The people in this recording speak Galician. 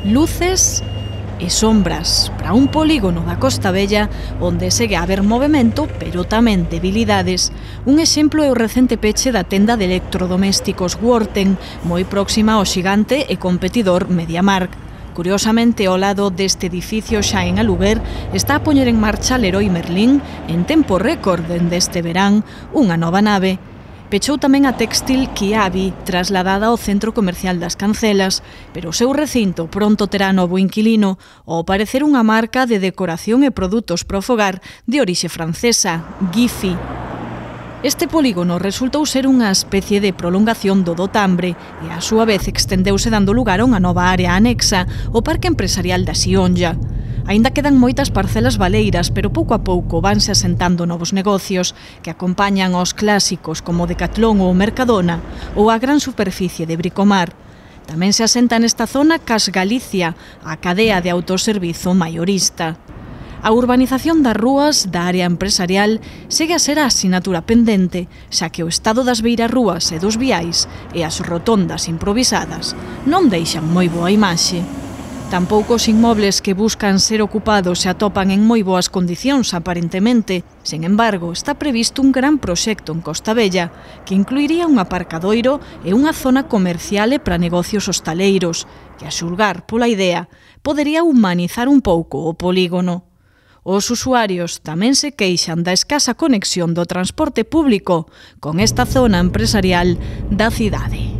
Luces e sombras para un polígono da Costa Vella onde segue a haber movimento, pero tamén debilidades. Un exemplo é o recente peche da tenda de electrodomésticos Worten, moi próxima ao xigante e competidor MediaMarkt. Curiosamente, ao lado deste edificio xa en aluguer, está a poñer en marcha Leroy Merlin, en tempo récord dende este verán, unha nova nave. Pechou tamén a Textil Kiabi, trasladada ao centro comercial das Cancelas, pero o seu recinto pronto terá novo inquilino, ao parecer unha marca de decoración e produtos para o fogar de orixe francesa, Gifi. Este polígono resultou ser unha especie de prolongación do Dotambre e a súa vez extendeuse dando lugar a unha nova área anexa, o Parque Empresarial da Xionlla. Aínda quedan moitas parcelas baleiras, pero pouco a pouco vanse asentando novos negocios que acompañan aos clásicos como Decathlon ou Mercadona ou a gran superficie de Bricomar. Tamén se asenta nesta zona Cas Galicia, a cadea de autoservizo maiorista. A urbanización das rúas da área empresarial segue a ser a asignatura pendente, xa que o estado das beirarrúas e dos viais e as rotondas improvisadas non deixan moi boa imaxe. Tampouco os inmobles que buscan ser ocupados se atopan en moi boas condicións, aparentemente. Sen embargo, está previsto un gran proxecto en Costa Vella que incluiría un aparcadoiro e unha zona comercial e para negocios hostaleiros, que, a xulgar pola idea, podería humanizar un pouco o polígono. Os usuarios tamén se queixan da escasa conexión do transporte público con esta zona empresarial da cidade.